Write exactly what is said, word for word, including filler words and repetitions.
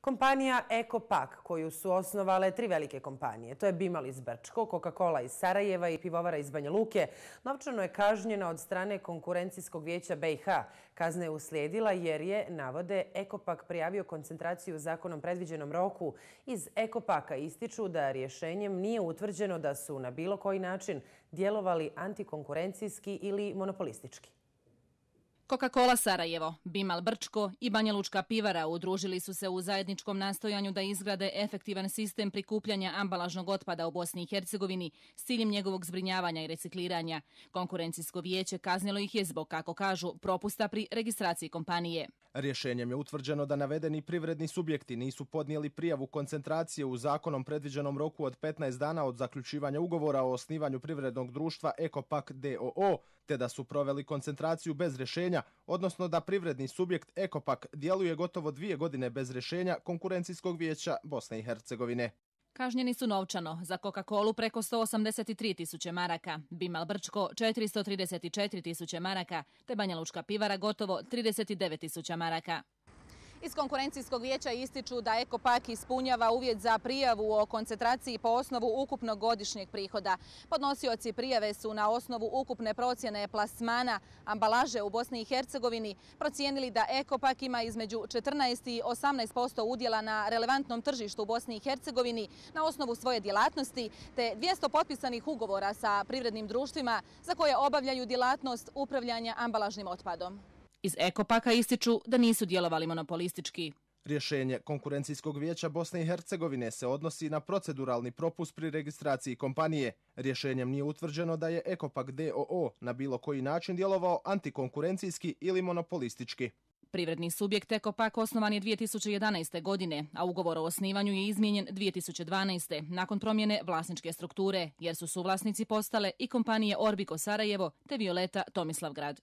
Kompanija Ekopak, koju su osnovale tri velike kompanije, to je Bimal iz Brčko, Coca-Cola iz Sarajeva i Pivovara iz Banja Luke, novčano je kažnjena od strane Konkurencijskog vijeća B i H. Kazna je uslijedila jer je, navode, Ekopak prijavio koncentraciju u zakonom predviđenom roku. Iz Ekopaka ističu da rješenjem nije utvrđeno da su na bilo koji način djelovali antikonkurencijski ili monopolistički. Coca-Cola Sarajevo, Bimal Brčko i Banja Lučka pivara udružili su se u zajedničkom nastojanju da izgrade efektivan sistem prikupljanja ambalažnog otpada u Bosni i Hercegovini s ciljem njegovog zbrinjavanja i recikliranja. Konkurencijsko vijeće kaznilo ih je zbog, kako kažu, propusta pri registraciji kompanije. Rješenjem je utvrđeno da navedeni privredni subjekti nisu podnijeli prijavu koncentracije u zakonom predviđenom roku od petnaest dana od zaključivanja ugovora o osnivanju privrednog društva Ekopak d o o, te da su proveli koncentraciju bez rješenja, odnosno da privredni subjekt Ekopak djeluje gotovo dvije godine bez rješenja Konkurencijskog vijeća Bosne i Hercegovine. Kažnjeni su novčano, za Coca-Colu preko sto osamdeset tri tisuće maraka, Bimal Brčko četiristo trideset četiri tisuće maraka, te Banja Lučka pivara gotovo trideset devet tisuća maraka. Iz Konkurencijskog vijeća ističu da Ekopak ispunjava uvjet za prijavu o koncentraciji po osnovu ukupnog godišnjeg prihoda. Podnosioci prijave su na osnovu ukupne procjene plasmana ambalaže u Bosni i Hercegovini procijenili da Ekopak ima između četrnaest i osamnaest posto udjela na relevantnom tržištu u Bosni i Hercegovini na osnovu svoje djelatnosti, te dvjesto potpisanih ugovora sa privrednim društvima za koje obavljaju djelatnost upravljanja ambalažnim otpadom. Iz Ekopaka ističu da nisu djelovali monopolistički. Rješenje Konkurencijskog vijeća Bosne i Hercegovine se odnosi na proceduralni propust pri registraciji kompanije. Rješenjem nije utvrđeno da je Ekopak d o o na bilo koji način djelovao antikonkurencijski ili monopolistički. Privredni subjekt Ekopak osnovan je dvije tisuće jedanaeste. godine, a ugovor o osnivanju je izmijenjen dvije tisuće dvanaeste. nakon promjene vlasničke strukture, jer su suvlasnici postale i kompanije Orbico Sarajevo te Violeta Tomislavgrad.